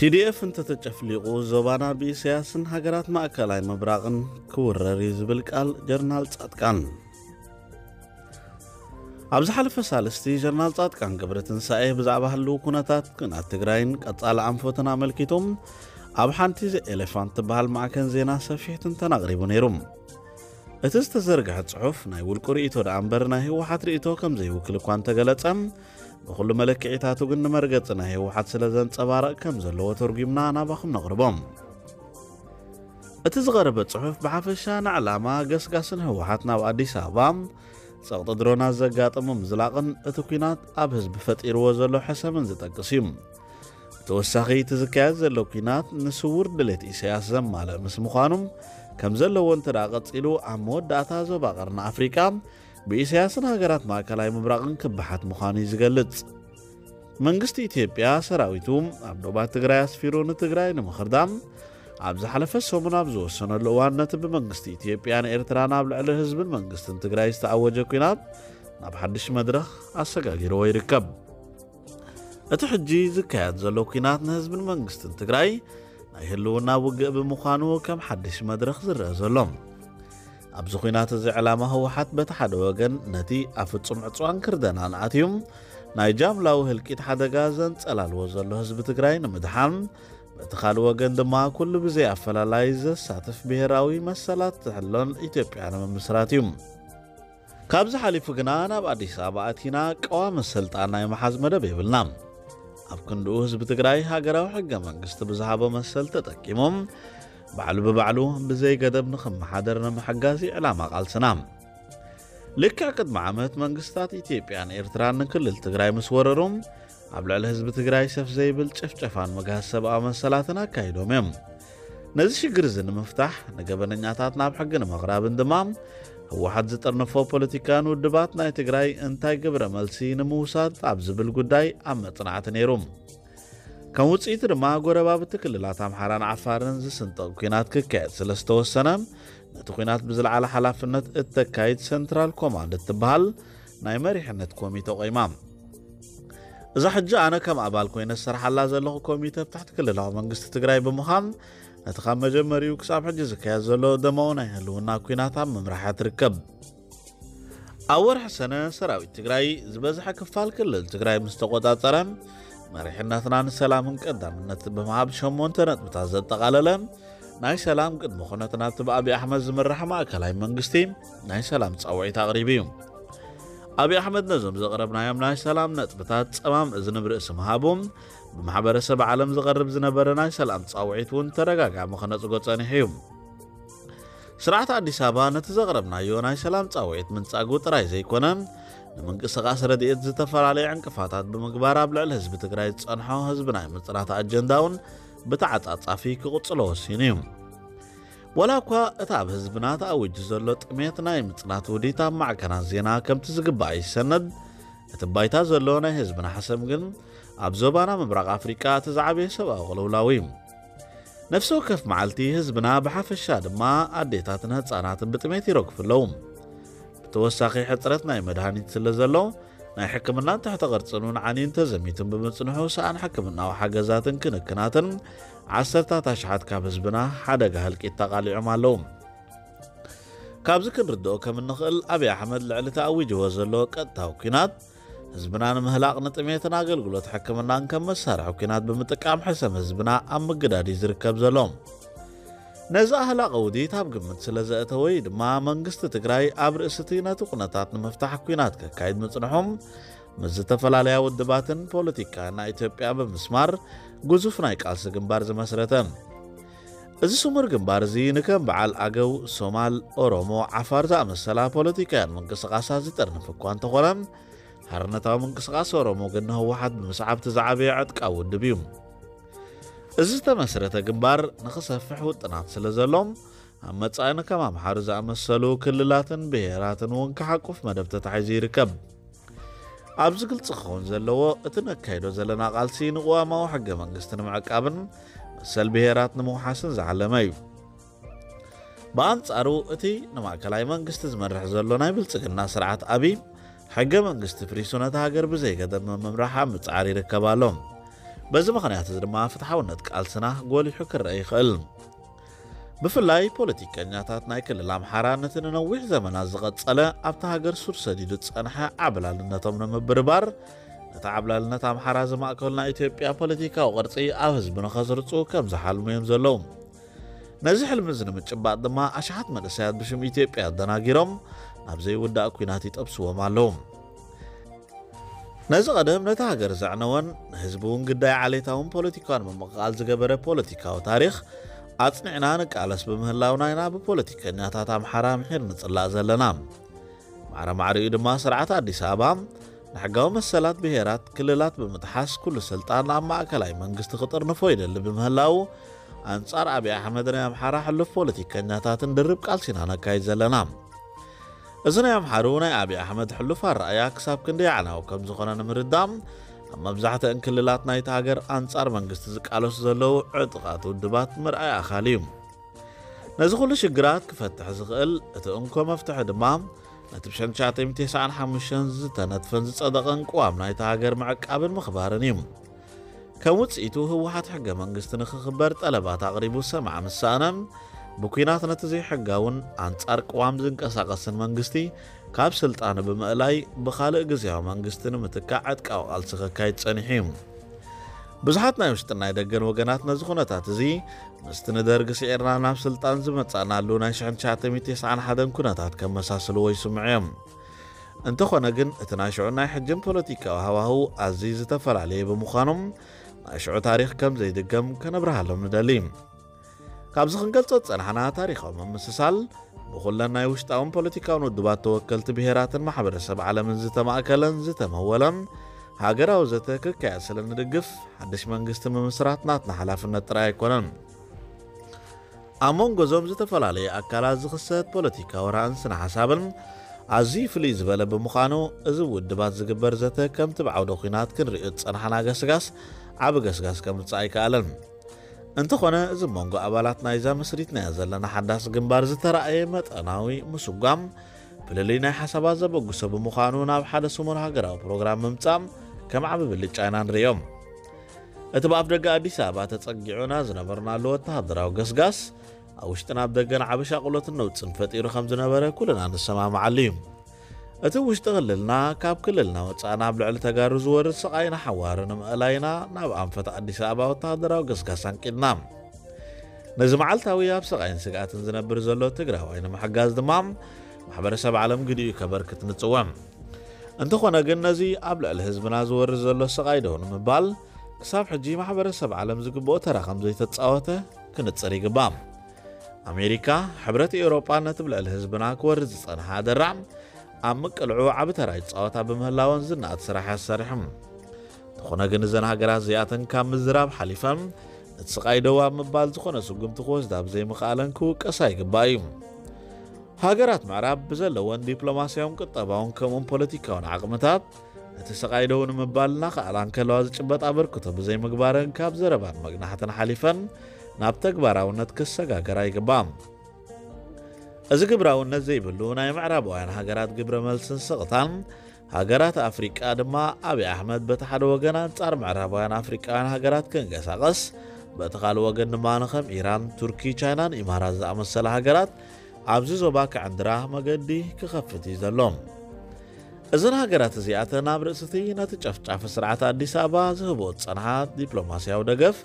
ቲ ዲ ኤፍ እንተተጨፍሊቑ ዞባና ብኢሳያስን ሃገራት ማእከላይ ምብራቕን ክውረር እዩ ዝብል ቃል ጀነራል ጻድቃን። ኣብ ዝሓለፈ ሳልስቲ ጀነራል ጻድቃን ገብረትንሳኤ ብዛዕባ ህልው ኩነታት ኩናት ትግራይን ቀጻሊ ኣንፈትን ኣመልኪቶም ኣብ ሓንቲ ኤሌፋንት ትበሃል ማዕከን ዜና ሰፊሕ ትንተና ኣቕሪቡ ነይሩ። እቲ ዝተዘርግሐ ጽሑፍ ናይ ውልቁ ርእይቶ ደኣ እምበር ናይ ህወሓት ርእይቶ ከም ዘይውክል እኳ እንተገለጸ፣ ብኹሉ መለክዒታቱ ግን ንመርገጺ ናይ ህወሓት ስለ ዘንጸባረቕ ከም ዘለዎ ተርጒምና ናባኹም ነቕርቦ። እቲ ዝቐረበ ጽሑፍ ብሓፈሻ ንዕላማ ገስጋስን ህወሓት ናብ ኣዲስ ኣበባ ጸቕጢ ድሮናት ዘጋጠሞ ምዝላቕን እቲ ኲናት ኣብ ህዝቢ ፈጢርዎ ዘሎ ሕሰምን ዝጠቅስ እዩ። ብተወሳኺ እቲ ዝካየድ ዘሎ ኲናት ንስውር ድሌት ኢሳያስ ዘማልእ ምስ ምዃኑ ከም ዘለዎ እንተ ደኣ ቀጺሉ ኣብ መወዳእታ ዞባ ቀርኒ ኣፍሪቃ ብኢሳያስን ሃገራት ማእከላይ ምብራቕን ክበሓት ምዃኑ እዩ ዝገልጽ። መንግስቲ ኢትዮጵያ ሰራዊቱ ኣብ ዶባት ትግራይ ኣስፊሩ ንትግራይ ንምኽርዳም ኣብ ዝሓለፈ ሰሙን ኣብ ዝወሰነሉ እዋን ነቲ ብመንግስቲ ኢትዮጵያን ኤርትራን ኣብ ልዕሊ ህዝብን መንግስትን ትግራይ ዝተኣወጀ ኲናት ናብ ሓድሽ መድረኽ ኣሰጋጊርዎ ይርከብ። እቲ ሕጂ ዝካየድ ዘሎ ኲናት ንህዝብን መንግስትን ትግራይ ናይ ህልውና ውግእ ብምዃኑ ከም ሓድሽ መድረኽ ዝረአ ዘሎ። ኣብዚ ኲናት እዚ ዕላማ ህወሓት በቲ ሓደ ወገን ነቲ ኣብ ፍጹም ዕጽዋን ክርደናን ኣትዩ ናይ ጃምላዊ ህልቂት ሓደጋ ዘንጸላልዎ ዘሎ ህዝቢ ትግራይ ንምድሓን፣ በቲ ካልእ ወገን ድማ ኩሉ ብዘይ ኣፈላላይ ዘሳትፍ ብሄራዊ መሰላት ትሕሎን ኢትዮጵያ ንምምስራት እዩ። ካብዚ ሓሊፉ ግና ናብ ኣዲስ ኣበባ ኣቲና ቀዋሚ ስልጣን ናይ ምሓዝ መደብ የብልና። ኣብ ክንድኡ ህዝቢ ትግራይ ሃገራዊ ሕገ መንግስቲ ብዝሃቦ መሰል ተጠቂሞም ባዕሉ ብባዕሉ ብዘይ ገደብ ንኽመሓደር ንምሕጋዝ እዩ ዕላማ ቃልስና። ልክዕ ቅድሚ ዓመት መንግስታት ኢትዮጵያን ኤርትራን ንክልል ትግራይ ምስ ወረሩ ኣብ ልዕሊ ህዝቢ ትግራይ ሰፍ ዘይብል ጭፍጨፋን ምግሃስ ሰብኣዊ መሰላትን ኣካይዶም እዮም። ነዚ ሽግር እዚ ንምፍታሕ ንገበነኛታት ናብ ሕጊ ንምቕራብን ድማ ህወሓት ዝጠርነፎ ፖለቲካን ውድባት ናይ ትግራይ እንታይ ግብረ መልሲ ንምውሳድ ኣብ ዝብል ጉዳይ ኣብ መጽናዕቲ ነይሩ። ከም ውጽኢቱ ድማ ጎረባብቲ ክልላት ኣምሓራን ዓፋርን ዝስንጠቕ ኲናት ክካየድ ስለ ዝተወሰነ ነቲ ኲናት ብዝለዓለ ሓላፍነት እተካይድ ሰንትራል ኮማንድ እትበሃል ናይ መሪሕነት ኮሚተ ቆይማ። እዛ ሕጂ ኣነ ከም ኣባል ኮይነ ዝሰርሓላ ዘለኹ ኮሚተ ኣብ ትሕቲ ክልላዊ መንግስቲ ትግራይ ብምዃን ነቲ ካብ መጀመሪኡ ክሳብ ሕጂ ዝካየድ ዘሎ ደማዊ ናይ ህልውና ኲናት ኣብ ምምራሕ እያ ትርከብ። ኣብ ወርሒ ሰነ ሰራዊት ትግራይ ዝበዝሐ ክፋል ክልል ትግራይ ምስ ተቆጻጸረ መሪሕነትና ንሰላምን ቀዳምነት ብምሃብ ሸሞንተ ነጥብታት ዘጠቓለለ ናይ ሰላም ቅድመ ኩነት ናብቲ ብኣብይ ኣሕመድ ዝምራሕ ማእከላይ መንግስቲ ናይ ሰላም ጻውዒት ኣቕሪቡ እዩ። ኣብይ ኣሕመድ ነዞም ዘቕረብናዮም ናይ ሰላም ነጥብታት ጸማም እዝኒ ብርእሲ ምሃቡ ብማሕበረሰብ ዓለም ዝቐርብ ዝነበረ ናይ ሰላም ጻውዒት እውን ተደጋጋሚ ክነጽጎ ጸኒሑ እዩ። ስርዓት ኣዲስ ኣበባ ነቲ ዘቕረብናዮ ናይ ሰላም ጻውዒት ምንጻጉ ጥራይ ዘይኮነ ንምንቅስቓስ ረድኤት ዝተፈላለዩ ዕንቅፋታት ብምግባር ኣብ ልዕሊ ህዝቢ ትግራይ ዝጸንሖ ህዝቢ ናይ ምጽናት ኣጀንዳ እውን ብተዓጻጻፊ ክቕጽሎ ወሲኑ እዩ። ዋላ እኳ እቲ ኣብ ህዝብና ተኣዊጁ ዘሎ ጥሜት ናይ ምጽናት ውዲት ኣብ ማዕከናት ዜና ከምቲ ዝግባእ ይሰነድ፣ እቲ ባይታ ዘሎ ናይ ህዝብና ሕሰም ግን ኣብ ዞባና ምብራቕ ኣፍሪቃ እቲ ዝዓበየ ሰብኣዊ ቅልውላው እዩ። ነፍሲ ወከፍ መዓልቲ ህዝብና ብሓፈሻ ድማ ኣዴታትን ህጻናትን ብጥሜት ይረግፉ ኣለዉ። ብተወሳኺ ሕጽረት ናይ መድሃኒት ስለ ዘሎ ናይ ሕክምናን ትሕተ ቅርጽን እውን ዓንዩን ተዘሚቱን ብምጽንሑ ሰኣን ሕክምናዊ ሓገዛትን ክንክናትን ዓሰርታት ኣሽሓት ካብ ህዝብና ሓደጋ ህልቂት ተቓሊዖም ኣለዉ። ካብዚ ክንርድኦ ከም እንኽእል ኣብይ ኣሕመድ ልዕሊ ተኣዊጅዎ ዘሎ ቀጥታዊ ኲናት ህዝብና ንምህላቕ ንጥሜትን ኣገልግሎት ሕክምናን ከም መሳርሒ ኲናት ብምጥቃም ሕሰም ህዝብና ኣብ ምግዳድ እዩ ዝርከብ ዘሎ። ነዚ ኣህላቕ ውዲት ኣብ ግምት ስለ ዘእተወ እዩ ድማ መንግስቲ ትግራይ ኣብ ርእሲ እቲ ነቲ ኩነታት ንምፍታሕ ኲናት ከካይድ ምጽንሖም ምስ ዝተፈላለያ ውድባትን ፖለቲካን ናይ ኢትዮጵያ ብምስማር ግዙፍ ናይ ቃልሲ ግንባር ዝመስረተ። እዚ ስሙር ግንባር እዚ ንከም በዓል ኣገው፣ ሶማል፣ ኦሮሞ፣ ዓፋር ዝኣመሰላ ፖለቲካውያን ምንቅስቓሳት ዝጠርንፍ እኳ እንተኾነ፣ ሓርነታዊ ምንቅስቓስ ኦሮሞ ግን ንህወሓት ብምስዓብ እቲ ዝዓበየ ዕጥቃዊ ውድብ እዩ። እዚ ዝተመስረተ ግንባር ንኽሰፍሕ ውጥናት ስለ ዘሎ፣ ኣብ መጻኢ ንከም ኣምሓሩ ዝኣመሰሉ ክልላትን ብሄራትን እውን ክሓቁፍ መደብ ተታሒዙ ይርከብ። ኣብዚ ግልጺ ክኸውን ዘለዎ፣ እቲ ነካይዶ ዘለና ቃልሲ ንቅዋማዊ ሕገ መንግስቲ ንምዕቃብን መሰል ብሄራት ንምውሓስን ዝዓለመ እዩ። ብኣንጻሩ፣ እቲ ንማእከላይ መንግስቲ ዝመርሕ ዘሎ ናይ ብልጽግና ስርዓት ኣብይ፣ ሕገ መንግስቲ ፍሪሱ ነታ ሃገር ብዘይ ገደብ ንምምራሕ ኣብ ምጽዓር ይርከብ ኣሎ። በዚ ምኽንያት እዚ ድማ ፍትሓውነት ቃልስና ጎሊሑ ክረአ ይኽእል። ብፍላይ ፖለቲከኛታት ናይ ክልል ኣምሓራ ነቲ ንነዊሕ ዘመናት ዝቐጸለ ኣብታ ሃገር ሱር ሰዲዱ ዝጸንሐ ዓብላልነቶም ንምብርባር፣ ነቲ ዓብላልነት ኣምሓራ ዝማእከሉ ናይ ኢትዮጵያ ፖለቲካዊ ቅርጺ ኣብ ህዝቢ ንኸስርጹ ከም ዝሓልሙ እዮም ዘለዉ። ነዚ ሕልሚ እዚ ንምጭባጥ ድማ ኣሽሓት መንእሰያት ብሽም ኢትዮጵያ ኣደናጊሮም ናብ ዘይውዳእ ኲናት ይጠብስዎም ኣለዉ። ነዚ ቀደም ነታ ሃገር ዘዕነወን ንህዝቢ እውን ግዳይ ዓሌታውን ፖለቲካውን ምምቕቓል ዝገበረ ፖለቲካዊ ታሪኽ ኣጽኒዕና ንቃለስ ብምህላውና ኢና ብፖለቲከኛታት ኣምሓራ ምሒር ንጽላእ ዘለና። ማዕረ ማዕሪኡ ድማ ስርዓት ኣዲስ ኣበባ ንሕጋዊ መሰላት ብሄራት ክልላት ብምጥሓስ ኩሉ ስልጣን ኣብ ማእከላይ መንግስቲ ክጥርንፎ ይደሊ ብምህላው ኣንጻር ኣብይ ኣሕመድ ናይ ኣምሓራ ሕሉፍ ፖለቲከኛታትን ድርብ ቃልሲና ነካይድ ዘለና። እዚ ናይ ኣምሓሩ ናይ ኣብይ ኣሕመድ ሕሉፍ ኣረኣያ ክሳብ ክንደይ ኣዕናዊ ከም ዝኾነ ንምርዳእ ኣብ መብዛሕትአን ክልላት ናይቲ ሃገር ኣንጻር መንግስቲ ዝቃለሱ ዘለዉ ዕጡቓት ውድባት ምርኣይ ኣኻሊ እዩ። ነዚ ኩሉ ሽግራት ክፈትሕ ዝኽእል እቲ እንኮ መፍትሒ ድማ ነቲ ብሸንሻተይ ሚእቲ ተስዓን ሓሙሽተን ዝተነጥፈን ዝጸደቐን ቅዋም ናይታ ሃገር ምዕቃብን ምኽባርን እዩ። ከም ውጽኢቱ ህወሓት ሕገ መንግስቲ ንኽኽበር ጠለባት ኣቕሪቡ ሰማዕ ምስ ሰኣነ፣ ብኲናት ነቲ ዘይሕጋውን ኣንጻር ቅዋም ዝንቀሳቐስን መንግስቲ ካብ ስልጣኑ ብምእላይ ብኻልእ ግዝያዊ መንግስቲ ንምትካእ ዕጥቃዊ ቃልሲ ከካይድ ጸኒሑ እዩ። ብዙሓት ናይ ውሽጥን ናይ ደገን ወገናት ነዚ ኩነታት እዚ ምስቲ ንደርጊ ስዒርና ናብ ስልጣን ዝመጻእናሉ ናይ ሽሕን ትሽዓተ ሚእቲ ተስዓን ሓደን ኩነታት ከመሳስልዎ ይስምዑ እዮም። እንተኾነ ግን እቲ ናይ ሽዑን ናይ ሕጅን ፖለቲካዊ ሃዋህው ኣዝዩ ዝተፈላለየ ብምዃኑ ናይ ሽዑ ታሪኽ ከም ዘይድገም ከነብርሃሎም ንደሊ። ካብዚ ክንገልጾ ዝጸናሕና ታሪኻዊ ምምስሳል ብኹለን ናይ ውሽጣውን ፖለቲካውን ውድባት ተወከልቲ ብሄራትን ማሕበረሰብ ዓለምን ዝተማእከለን ዝተመወለን ሃገራዊ ዘተ ክካየድ ስለ ንድግፍ ሓድሽ መንግስቲ ምምስራት ናትና ሓላፍነት ጥራይ ኣይኮነን። ኣብ መንጎ እዞም ዝተፈላለዩ ኣካላት ዝኽሰት ፖለቲካዊ ራእን ስነ ሓሳብን ኣዝዩ ፍልይ ዝበለ ብምዃኑ እዚ ውድባት ዝግበር ዘተ ከምቲ ብዓውደ ኲናት ክንሪኦ ዝጸናሕና ገስጋስ ዓቢ ገስጋስ ከምጽእ ኣይከኣለን። እንተኾነ እዚ መንጎ ኣባላት ናይዛ መስሪትናያ ዘለና ሓዳስ ግንባር ዝተራእየ መጠናዊ ምስጓም ፍልልይ ናይ ሓሳባት ዘበግሶ ብምዃኑ ናብ ሓደ ስሙር ሃገራዊ ፕሮግራም ምምጻእ ከም ዓቢ ብልጫ ኢና ንርእዮ። እቲ ብኣፍ ደገ ኣዲስ ኣበባ ተጸጊዑና ዝነበርናሉ ወተሃደራዊ ገስጋስ ኣብ ውሽጥን ኣብ ደገን ዓቢ ሻቕሎትን ነውጽን ፈጢሩ ከም ዝነበረ ኩልና ንሰማማዓሉ እዩ። እቲ ውሽጢ ክልልና ካብ ክልልና ወጻእና ኣብ ልዕሊ ተጋሩ ዝወርድ ስቓይ ንሓዋሩ ንምእላይና ናብ ኣንፈት ኣዲስ ኣበባ ወተሃደራዊ ገስጋስ ኣንቂድና። ነዚ መዓልታዊ ኣብ ስቓይን ስግኣትን ዝነብር ዘሎ ትግራዋይ ንምሕጋዝ ድማ ማሕበረሰብ ዓለም ግዲኡ ከበርክት ንጽውዕ። እንተኾነ ግን ነዚ ኣብ ልዕሊ ህዝብና ዝወርድ ዘሎ ስቓይ ደው ንምባል ክሳብ ሕጂ ማሕበረሰብ ዓለም ዝግብኦ ተራ ከም ዘይተጻወተ ክንጽር ይግባእ። ኣሜሪካ፣ ሕብረት ኤውሮጳ ነቲ ብልዕሊ ህዝብና ክወርድ ዝጸንሓ ኣደራዕ ኣብ ምቅልዑ ዓቢ ተራ ይጻወታ ብምህላወን ዝነኣድ ስራሕ እያ ሰሪሖም። እንተኾነ ግን እዘን ሃገራት እዚኣተን ካብ ምዝራብ ሓሊፈን ነቲ ስቓይ ደው ኣብ ምባል ዝኾነ ስጉምቲ ክወስዳ ብዘይምኽኣለን ክውቀሳ ይግባእ እዩ። ሃገራት ምዕራብ ብዘለወን ዲፕሎማስያውን ቁጠባውን ከምኡን ፖለቲካውን ዓቕምታት ነቲ ስቓይ ደው ንምባል እናኸኣላ እንከለዋ ዝጭበጥ ኣበርክቶ ብዘይምግባረን ካብ ዘረባን መግናሕትን ሓሊፈን ናብ ተግባራውነት ክሰጋገራ ይግባእ። እዚ ግብራውነት ዘይብሉ ናይ ምዕራባውያን ሃገራት ግብረ መልስን ስቕታን ሃገራት ኣፍሪቃ ድማ ኣብይ ኣሕመድ በቲ ሓደ ወገን ኣንጻር ምዕራባውያን ኣፍሪቃውያን ሃገራት ክንቀሳቐስ በቲ ካልእ ወገን ድማ ንኸም ኢራን፣ ቱርኪ፣ ቻይናን ኢማራት ዝኣመሰላ ሃገራት ኣብዚ ዞባ ክዕንድራ መገዲ ክኸፍት እዩ ዘሎ። እዘን ሃገራት እዚኣተን ኣብ ርእሲ እቲ ነቲ ጨፍጫፊ ስርዓት ኣዲስ ኣበባ ዝህቦ ዝጸንሓ ዲፕሎማስያዊ ደገፍ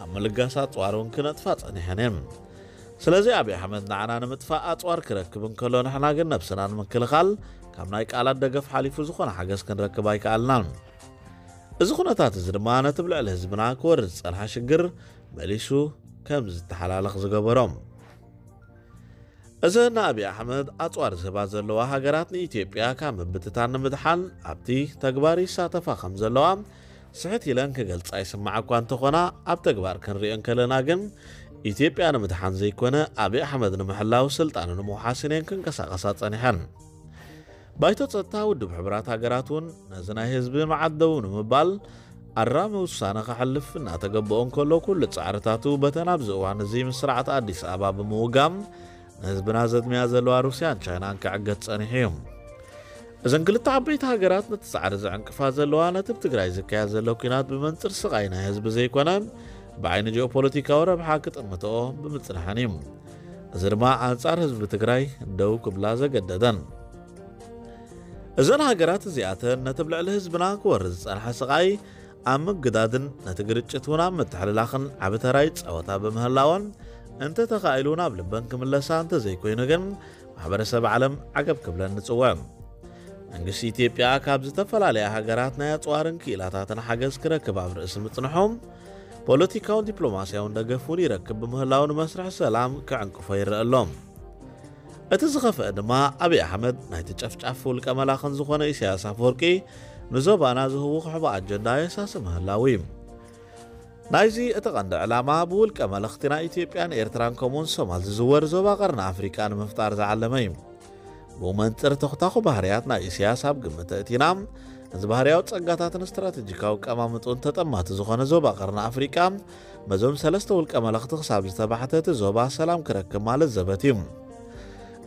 ኣብ ምልጋስ ኣጽዋር እውን ክነጥፋ ጸኒሐን እየን። ስለዚ ኣብይ ኣሕመድ ንዓና ንምጥፋእ ኣጽዋር ክረክብ እንከሎ ንሕና ግን ነብስና ንምክልኻል ካብ ናይ ቃላት ደገፍ ሓሊፉ ዝኾነ ሓገዝ ክንረክብ ኣይከኣልናን። እዚ ኩነታት እዚ ድማ ነቲ ብልዕሊ ህዝብና ክወርድ ዝጸንሓ ሽግር መሊሱ ከም ዝተሓላለኽ ዝገበሮ። እዘን ንኣብይ ኣሕመድ ኣጽዋር ዝህባ ዘለዋ ሃገራት ንኢትዮጵያ ካብ ምብትታን ንምድሓን ኣብቲ ተግባር ይሳተፋ ከም ዘለዋ ስሕት ኢለን ክገልጻ ይስማዓ እኳ እንተኾና ኣብ ተግባር ክንሪኦ እንከለና ግን ኢትዮጵያ ንምድሓን ዘይኮነ ኣብይ ኣሕመድ ንምሕላው ስልጣኑ ንምውሓስን እየን ክንቀሳቐሳ ጸኒሐን። ባይቶ ጸጥታ ውድብ ሕቡራት ሃገራት እውን ነዚ ናይ ህዝቢ መዓት ደው ንምባል ኣራሚ ውሳነ ከሕልፍ እናተገበኦ እንከሎ ኩሉ ጻዕርታቱ በተን ኣብዚ እዋን እዚ ምስ ስርዓት ኣዲስ ኣበባ ብምውጋም ንህዝብና ዘድምያ ዘለዋ ሩስያን ቻይናን ክዕገት ጸኒሑ እዩ። እዘን ክልተ ዓበይቲ ሃገራት ነቲ ጻዕሪ ዘዕንቅፋ ዘለዋ ነቲ ኣብ ትግራይ ዝካየድ ዘሎ ኲናት ብመንጽር ስቓይ ናይ ህዝቢ ዘይኮነ ብዓይኒ ጂኦፖለቲካዊ ረብሓ ክጥምትኦ ብምጽንሐን እዩ። እዚ ድማ ኣንጻር ህዝቢ ትግራይ ደው ክብላ ዘገደደን። እዘን ሃገራት እዚኣተን ነቲ ኣብ ልዕሊ ህዝብና ክወርድ ዝጸንሐ ስቓይ ኣብ ምግዳድን ነቲ ግርጭት እውን ኣብ ምትሕልላኽን ዓቢ ተራ ይጻወታ ብምህላወን፣ እንተተኻኢሉ ናብ ልበን ክምለሳ እንተዘይኮይኑ ግን ማሕበረሰብ ዓለም ዓገብ ክብለን ንጽውዕ። መንግስቲ ኢትዮጵያ ካብ ዝተፈላለያ ሃገራት ናይ ኣጽዋርን ክኢላታትን ሓገዝ ክረክብ ኣብ ርእሲ ምጽንሑ፣ ፖለቲካውን ዲፕሎማስያውን ደገፍ እውን ይረክብ ብምህላው ንመስርሕ ሰላም ክዕንቅፎ ይረአ ኣሎ። እቲ ዝኸፍአ ድማ ኣብይ ኣሕመድ ናይቲ ጨፍጫፍ ውልቀ መላኽን ዝኾነ ኢሳያስ ኣፈወርቂ ንዞባና ዝህውኽ ሕቡእ ኣጀንዳ የሳሲ ምህላው እዩ። ናይዚ እቲ ቀንዲ ዕላማ ብውልቀ መለኽቲ ናይ ኢትዮጵያን ኤርትራን ከምኡውን ሶማል ዝዝወር ዞባ ቀርኒ ኣፍሪቃ ንምፍጣር ዝዓለመ እዩ። ብኡ መንጽር ተኹታኹ ባህርያት ናይ ኢሳያስ ኣብ ግምት ኣእቲና፣ እዚ ባህርያዊ ጸጋታትን ስትራቴጂካዊ ቀማምጥኡን ተጠማቲ ዝኾነ ዞባ ቀርኒ ኣፍሪቃ በዞም ሰለስተ ውልቀ መለኽቲ ክሳብ ዝተባሕተ እቲ ዞባ ሰላም ክረክብ ማለት ዘበት እዩ።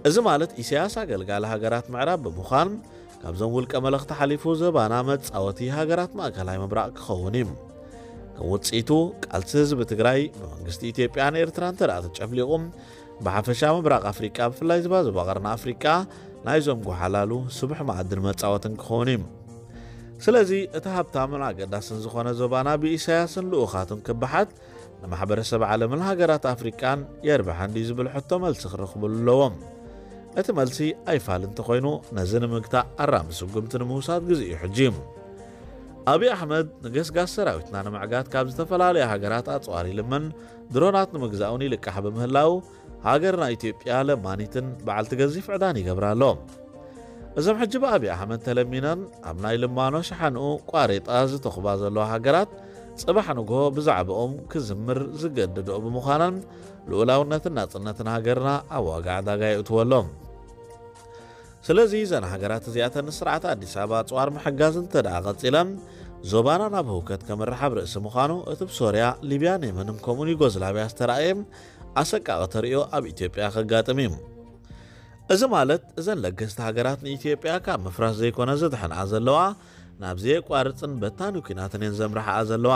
እዚ ማለት ኢሳያስ ኣገልጋሊ ሃገራት ምዕራብ ብምዃን ካብዞም ውልቀ መለኽቲ ሓሊፉ ዞባና መጻወቲ ሃገራት ማእከላይ ምብራቕ ክኸውን እዩ። ከም ውጽኢቱ ቃልሲ ህዝቢ ትግራይ ብመንግስቲ ኢትዮጵያን ኤርትራን እንተ ደኣ ተጨፍሊቑ ብሓፈሻ ምብራቕ ኣፍሪቃ ብፍላይ ዝባ ዞባ ቀርኒ ኣፍሪቃ ናይዞም ጎሓላሉ ስቡሕ መኣድን መጻወትን ክኸውን እዩ። ስለዚ እቲ ሃብታምን ኣገዳስን ዝኾነ ዞባና ብኢሳያስን ልኡኻቱን ክበሓት ንማሕበረሰብ ዓለምን ሃገራት ኣፍሪቃን የርብሐን ድዩ ዝብል ሕቶ መልሲ ክረኽበሉ ኣለዎም። እቲ መልሲ ኣይፋል እንተኾይኑ ነዚ ንምግታእ ኣራሚ ስጉምቲ ንምውሳድ ግዜኡ ሕጂ እዩ። ኣብይ ኣሕመድ ንገስጋስ ሰራዊትና ንምዕጋት ካብ ዝተፈላለያ ሃገራት ኣጽዋር ይልምን ድሮናት ንምግዛኡን ይልቃሕ ብምህላው ሃገርና ኢትዮጵያ ለማኒትን በዓልቲ ገዚፍ ዕዳን ይገብራ ኣሎ። እዞም ሕጂ ብኣብይ ኣሕመድ ተለሚነን ኣብ ናይ ልማኖ ሸሓንኡ ቋሬጣ ዝተኹባ ዘለዋ ሃገራት ጽባሕ ንግሆ ብዛዕባኦም ክዝምር ዝገድድኦ ብምዃነን ልኡላውነትን ናጽነትን ሃገርና ኣብ ዋጋ ዕዳጋ የእትዎ ኣሎ። ስለዚ እዘን ሃገራት እዚኣተን ንስርዓት ኣዲስ ኣበባ ኣጽዋር ምሕጋዝ እንተ ደኣ ቀጺለን ዞባና ናብ ህውከት ከምርሕ ኣብ ርእሲ ምዃኑ እቲ ብሶርያ፣ ሊብያን የመንን ከምኡን ዩጎዝላቪያ ዝተራእየ ኣሰቃቒ ተርእዮ ኣብ ኢትዮጵያ ከጋጥም እዩ። እዚ ማለት እዘን ለገስቲ ሃገራት ንኢትዮጵያ ካብ ምፍራስ ዘይኮነ ዘድሕንኣ ዘለዋ ናብ ዘየቋርጽን በታኒ ኲናትን እየን ዘምርሓኣ ዘለዋ።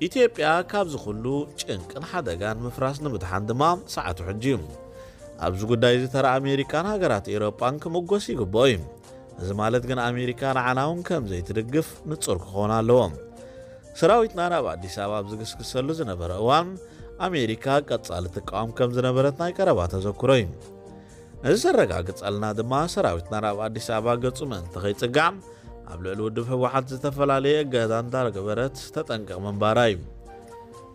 ኢትዮጵያ ካብዚ ኩሉ ጭንቅን ሓደጋን ምፍራስ ንምድሓን ድማ ሰዓቱ ሕጂ እዩ። ኣብዚ ጉዳይ እዚ ተራ ኣሜሪካን ሃገራት ኤውሮጳን ክምጎስ ይግብኦ እዩ። እዚ ማለት ግን ኣሜሪካ ንዓና እውን ከም ዘይትድግፍ ንጹር ክኸውን ኣለዎ። ሰራዊትና ናብ ኣዲስ ኣበባ ኣብ ዝግስግሰሉ ዝነበረ እዋን ኣሜሪካ ቀጻሊ ትቃወም ከም ዝነበረት ናይ ቀረባ ተዘክሮ እዩ። እዚ ዘረጋግጸልና ድማ ሰራዊትና ናብ ኣዲስ ኣበባ ገጹ ምእንቲ ከይጽጋዕ ኣብ ልዕሊ ውድብ ህወሓት ዝተፈላለየ እገዳ እንዳገበረት ተጠንቀቕ ምንባራ እዩ።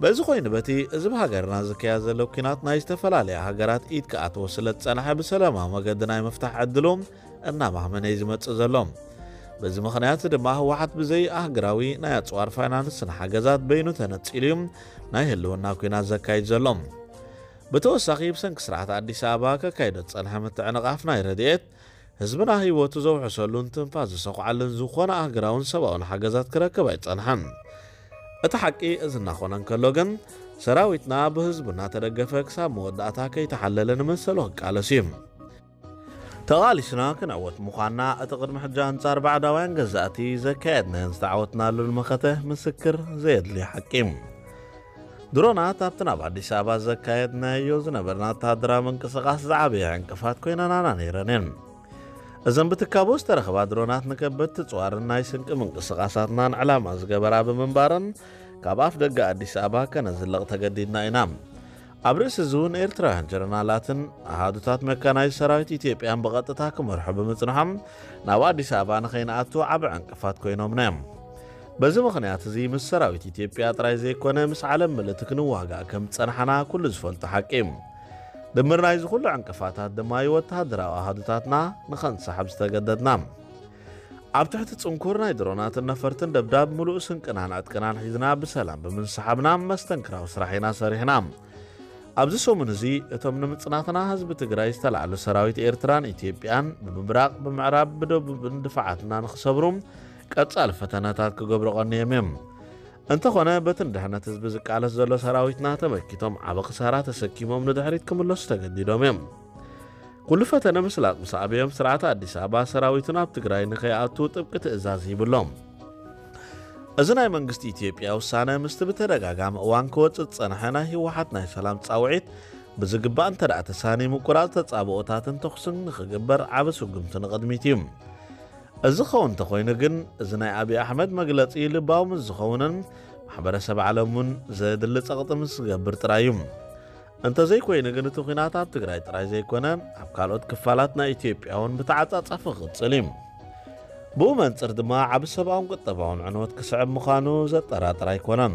በዚ ኮይኑ በቲ እዚ ብሃገርና ዝካየድ ዘሎ ኲናት ናይ ዝተፈላለያ ሃገራት ኢድ ክኣትዎ ስለ ዝጸንሐ ብሰላማዊ መገዲ ናይ ምፍታሕ ዕድሉ እናማህመነ እዩ ዝመጽእ ዘሎ። በዚ ምኽንያት ድማ ህወሓት ብዘይ ኣህግራዊ ናይ ኣጽዋር ፋይናንስን ሓገዛት በይኑ ተነጺሉ እዩ ናይ ህልውና ኲናት ዘካይድ ዘሎ። ብተወሳኺ ብሰንኪ ስርዓት ኣዲስ ኣበባ ከካይዶ ዝጸንሐ ምትዕንቓፍ ናይ ረድኤት ህዝብና ህይወቱ ዘውሕሰሉን ትንፋስ ዝሰኹዓሉን ዝኾነ ኣህግራውን ሰብኣውን ሓገዛት ክረክብ ኣይጸንሐን። እቲ ሓቂ እዚ እናኾነ እንከሎ ግን ሰራዊትና ብህዝቡ እናተደገፈ ክሳብ መወዳእታ ከይተሓለለ ንመሰሉ ክቃለስ እዩ። ተቓሊስና ክንዕወት ምዃንና እቲ ቅድሚ ሕጂ ኣንጻር ባዕዳውያን ገዛእቲ ዘካየድናዮን ዝተዓወትናሉን መኸተ ምስክር ዘየድልዮ ሓቂ እዩ። ድሮናት ኣብቲ ናብ ኣዲስ ኣበባ ዘካየድናዮ ዝነበርና ወተሃደራዊ ምንቅስቓስ ዝዓበየ ዕንቅፋት ኮይነናና ነይረን እየን። እዘን ብትካቦ ዝተረኽባ ድሮናት ንከበድቲ ጽዋርን ናይ ስንቂ ምንቅስቓሳትናን ዕላማ ዝገበራ ብምንባረን ካብ ኣፍ ደገ ኣዲስ ኣበባ ከነዝልቕ ተገዲድና ኢና። ኣብ ርእሲ እዚ እውን ኤርትራውያን ጀነራላትን ኣሃዱታት መካናይዝ ሰራዊት ኢትዮጵያን ብቐጥታ ክመርሑ ብምጽንሖም ናብ ኣዲስ ኣበባ ንኸይንኣቱ ዓቢ ዕንቅፋት ኮይኖምና እዮም። በዚ ምኽንያት እዚ ምስ ሰራዊት ኢትዮጵያ ጥራይ ዘይኮነ ምስ ዓለም ምልእቲ ክንዋጋእ ከም ዝጸናሕና ኩሉ ዝፈልጦ ሓቂ እዩ። ድምር ናይዚ ኩሉ ዕንቅፋታት ድማ እዩ ወተሃደራዊ ኣሃዱታትና ንኸንሳሕብ ዝተገደድና። ኣብ ትሕቲ ጽንኩር ናይ ድሮናትን ነፈርትን ደብዳብ ምሉእ ስንቅናን ዕጥቅናን ሒዝና ብሰላም ብምንስሓብና መስተንክራዊ ስራሕ ኢና ሰሪሕና። ኣብዚ ሰሙን እዚ እቶም ንምጽናትና ህዝቢ ትግራይ ዝተላዕሉ ሰራዊት ኤርትራን ኢትዮጵያን ብምብራቕ፣ ብምዕራብ፣ ብደቡብን ድፋዓትና ንኽሰብሩ ቀጻሊ ፈተነታት ክገብሩ ቀንዮም እዮም። እንተኾነ በቲ ንድሕነት ህዝቢ ዝቃለስ ዘሎ ሰራዊትና ተመኪቶም ዓቢ ክሳራ ተሰኪሞም ንድሕሪት ክምለሱ ተገዲዶም እዮም። ኩሉ ፈተነ ምስላጥ ምስ ኣበዮም፣ ስርዓት ኣዲስ ኣበባ ሰራዊቱ ናብ ትግራይ ንኸይኣቱ ጥብቂ ትእዛዝ ሂብሎም። እዚ ናይ መንግስቲ ኢትዮጵያ ውሳነ ምስቲ ብተደጋጋሚ እዋን ክወጽእ ዝጸንሐ ናይ ህወሓት ናይ ሰላም ጻውዒት ብዝግባእ እንተ ደኣ ተሳኒ፣ ምቁራጽ ተጻብኦታትን ተኹስን ንኽግበር ዓቢ ስጉምቲ ንቕድሚት እዩ። እዚ ክኸውን እንተኾይኑ ግን፣ እዚ ናይ ኣብይ ኣሕመድ መግለጺ ልባዊ ምስ ዝኸውንን ማሕበረሰብ ዓለም እውን ዘድሊ ጸቕጢ ምስ ዝገብር ጥራይ እዩ። እንተዘይኮይኑ ግን፣ እቲ ኲናት ኣብ ትግራይ ጥራይ ዘይኮነ፣ ኣብ ካልኦት ክፋላት ናይ ኢትዮጵያ እውን ብተዓጻጻፊ ክቕጽል እዩ። ብኡ መንጽር ድማ ዓቢ ሰብኣውን ቁጠባውን ዕንወት ክስዕብ ምዃኑ ዘጠራጥር ኣይኮነን።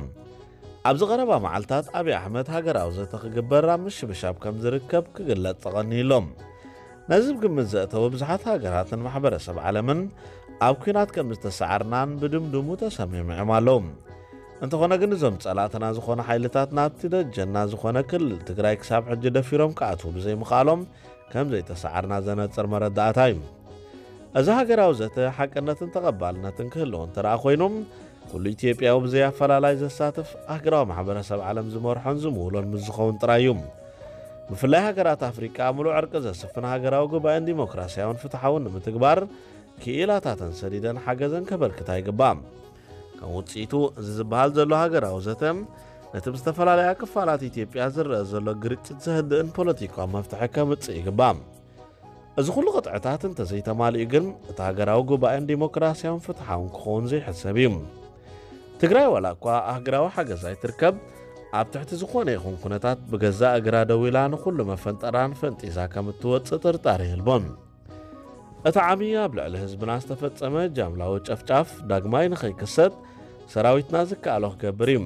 ኣብዚ ቀረባ መዓልታት ኣብይ ኣሕመድ ሃገራዊ ዘተ ክግበር ኣብ ምሽብሻብ ከም ዝርከብ ክግለጽ ተቐንዩ ኣሎ። ነዚ ብግምት ዘእተወ ብዙሓት ሃገራትን ማሕበረሰብ ዓለምን ኣብ ኲናት ከም ዝተሰዓርናን ብድምድሙ ተሰሚዖም ኣለዉ። እንተኾነ ግን እዞም ጸላእትና ዝኾኑ ሓይልታት ናብቲ ደጀና ዝኾነ ክልል ትግራይ ክሳብ ሕጂ ደፊሮም ክኣትዉ ብዘይምኽኣሎም ከም ዘይተሰዓርና ዘነጽር መረዳእታ እዩ። እዚ ሃገራዊ ዘተ ሓቅነትን ተቐባልነትን ክህልዎ እንተ ደኣ ኮይኑ፣ ኩሉ ኢትዮጵያዊ ብዘይ ኣፈላላይ ዘሳትፍ ኣህግራዊ ማሕበረሰብ ዓለም ዝመርሖን ዝምውሎን ምስ ዝኸውን ጥራይ እዩ። ብፍላይ ሃገራት ኣፍሪቃ ምሉእ ዕርቂ ዘስፍን ሃገራዊ ጉባኤን ዲሞክራሲያውን ፍትሓውን ንምትግባር ክኢላታተን ሰዲደን ሓገዘን ከበርክታ ይግባእ። ከም ውፅኢቱ፣ እዚ ዝበሃል ዘሎ ሃገራዊ ዘተ ነቲ ብዝተፈላለያ ክፋላት ኢትዮጵያ ዝረአ ዘሎ ግርጭት ዘህድእን ፖለቲካዊ መፍትሒ ከምጽእ ይግባእ። እዚ ኩሉ ቅጥዕታት እንተዘይተማሊኡ ግን፣ እቲ ሃገራዊ ጉባኤን ዲሞክራሲያውን ፍትሓውን ክኸውን ዘይሕሰብ እዩ። ትግራይ ዋላ እኳ ኣህግራዊ ሓገዝ ኣይትርከብ፣ ኣብ ትሕቲ ዝኾነ ይኹን ኩነታት ብገዛእ እግራ ደው ኢላ ንኹሉ መፈንጠራን ፈንጢዛ ከም እትወጽእ ጥርጣረ የልቦን። እቲ ዓሚ ኣብ ልዕሊ ህዝብና ዝተፈጸመ ጃምላዊ ጨፍጫፍ ዳግማይ ንኸይክሰት ሰራዊትና ዝከኣሎ ክገብር እዩ።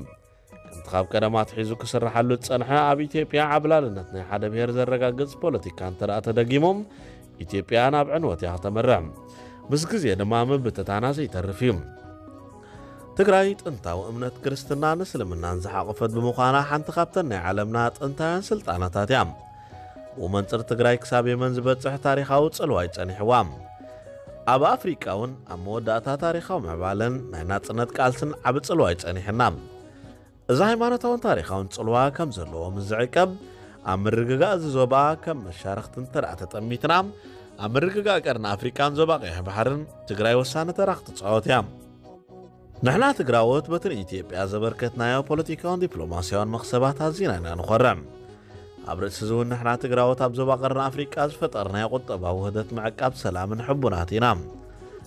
ከምቲ ካብ ቀደም ኣትሒዙ ክስርሓሉ ዝጸንሐ፣ ኣብ ኢትዮጵያ ዓብላልነት ናይ ሓደ ብሄር ዘረጋግጽ ፖለቲካ እንተ ደኣ ተደጊሙ፣ ኢትዮጵያ ናብ ዕንወት እያ ክተምርሕ። ምስ ግዜ ድማ ምብትታና ዘይተርፍ እዩ። ትግራይ ጥንታዊ እምነት ክርስትናን እስልምናን ዝሓቖፈት ብምዃና፣ ሓንቲ ካብተን ናይ ዓለምና ጥንታውያን ስልጣነታት እያ። ብኡ መንጽር፣ ትግራይ ክሳብ የመን ዝበጽሕ ታሪኻዊ ጽልዋ እዩ ጸኒሕዋ። ኣብ ኣፍሪቃ እውን ኣብ መወዳእታ ታሪኻዊ ምዕባለን ናይ ናጽነት ቃልስን ዓቢ ጽልዋ እዩ ጸኒሕና። እዚ ሃይማኖታውን ታሪኻውን ጽልዋ ከም ዘለዎ ምስ ዝዕቀብ፣ ኣብ ምርግጋእ እዚ ዞባ ከም መሻርኽቲ እንተ ደኣ ተጠሚትና፣ ኣብ ምርግጋእ ቀርኒ ኣፍሪቃን ዞባ ቀይሕ ባሕርን ትግራይ ወሳኒ ተራ ክትጻወት እያ። ንሕና ትግራዎት በቲ ንኢትዮጵያ ዘበርከትናዮ ፖለቲካውን ዲፕሎማስያውን መኽሰባት ኣዚና ኢና ንኾርዕ። ኣብ ርእሲ እዚ እውን ንሕና ትግራዎት ኣብ ዞባ ቀርኒ ኣፍሪቃ ዝፈጠርናዮ ቁጠባዊ ውህደት ምዕቃብ ሰላምን ሕቡናት ኢና።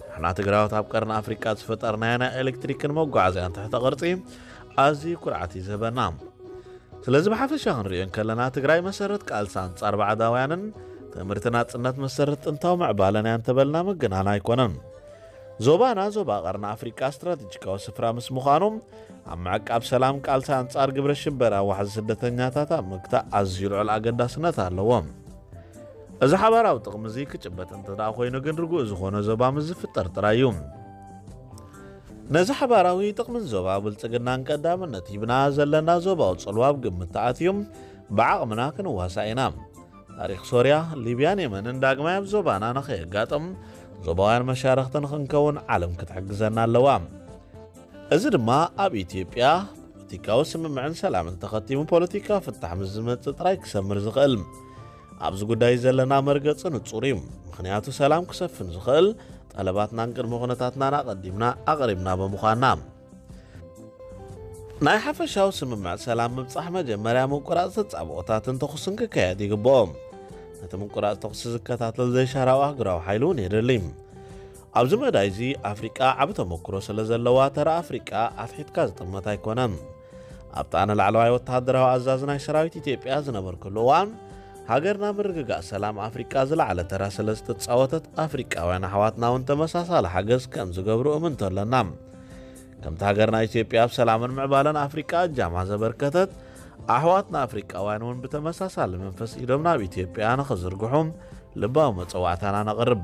ንሕና ትግራዎት ኣብ ቀርኒ ኣፍሪቃ ዝፈጠርናዮ ናይ ኤሌክትሪክን መጓዓዝያን ትሕተ ቅርጺ ኣዝዩ ኩርዓት እዩ ዝህበና። ስለዚ ብሓፈሻ ክንሪኦ እንከለና፣ ትግራይ መሰረት ቃልሲ ኣንጻር ባዕዳውያንን ትምህርቲ ናጽነት መሰረት ጥንታዊ ምዕባለን እያ እንተበልና ምግናን ኣይኮነን። ዞባና ዞባ ቀርኒ ኣፍሪቃ ስትራቴጂካዊ ስፍራ ምስ ምዃኑ፣ ኣብ ምዕቃብ ሰላም፣ ቃልሲ ኣንጻር ግብረ ሽበራ፣ ዋሕዚ ስደተኛታት ኣብ ምግታእ ኣዝዩ ልዑል ኣገዳስነት ኣለዎ። እዚ ሓባራዊ ጥቕሚ እዚ ክጭበጥ እንተ ደኣ ኮይኑ ግን፣ ርጉእ ዝኾነ ዞባ ምስ ዝፍጠር ጥራይ እዩ። ነዚ ሓባራዊ ጥቕምን ዞባ ብልጽግናን ቀዳምነት ሂብና፣ ዘለና ዞባዊ ጽልዋ ኣብ ግምት ተኣትዩ፣ ብዓቕምና ክንዋሳእ ኢና። ታሪኽ ሶርያ፣ ሊብያን የመንን ዳግማይ ኣብ ዞባና ንኸየጋጥም፣ ዞባውያን መሻርኽቲ ንኽንከውን ዓለም ክትሕግዘና ኣለዋ። እዚ ድማ ኣብ ኢትዮጵያ ፖለቲካዊ ስምምዕን ሰላምን ተኸቲሙ፣ ፖለቲካዊ ፍታሕ ምስ ዝመጽእ ጥራይ ክሰምር ዝኽእል። ኣብዚ ጉዳይ ዘለና መርገጺ ንጹር እዩ። ምኽንያቱ፣ ሰላም ክሰፍን ዝኽእል፣ ጠለባትናን ቅድመ ኩነታትናን ኣቐዲምና ኣቕሪብና ብምዃንና። ናይ ሓፈሻዊ ስምምዕ ሰላም ምብጻሕ፣ መጀመርያ ምቁራጽ ተጻብኦታትን ተኹስን ክካየድ ይግብኦ። ነቲ ምቁራጽ ተኹሲ ዝከታተል ዘይሻራዊ ኣህጉራዊ ሓይሊ እውን የድሊ። ኣብዚ መዳይ እዚ፣ ኣፍሪቃ ዓቢ ተመክሮ ስለ ዘለዋ፣ ተራ ኣፍሪቃ ኣትሒትካ ዝጥመት ኣይኮነን። ኣብታ ንላዕለዋይ ወተሃደራዊ ኣዛዚ ናይ ሰራዊት ኢትዮጵያ ዝነበርኩሉ እዋን፣ ሃገርና ምርግጋእ ሰላም ኣፍሪቃ ዝለዓለ ተራ ስለ ዝተጻወተት፣ ኣፍሪቃውያን ኣሕዋትና እውን ተመሳሳሊ ሓገዝ ከም ዝገብሩ እምንቶ ኣለና። ከምቲ ሃገርና ኢትዮጵያ ኣብ ሰላምን ምዕባለን ኣፍሪቃ እጃማ ዘበርከተት፣ ኣሕዋትና ኣፍሪቃውያን እውን ብተመሳሳሊ መንፈስ ኢዶም ናብ ኢትዮጵያ ንኽዝርግሑ ልባዊ መጸዋዕታና ነቕርብ።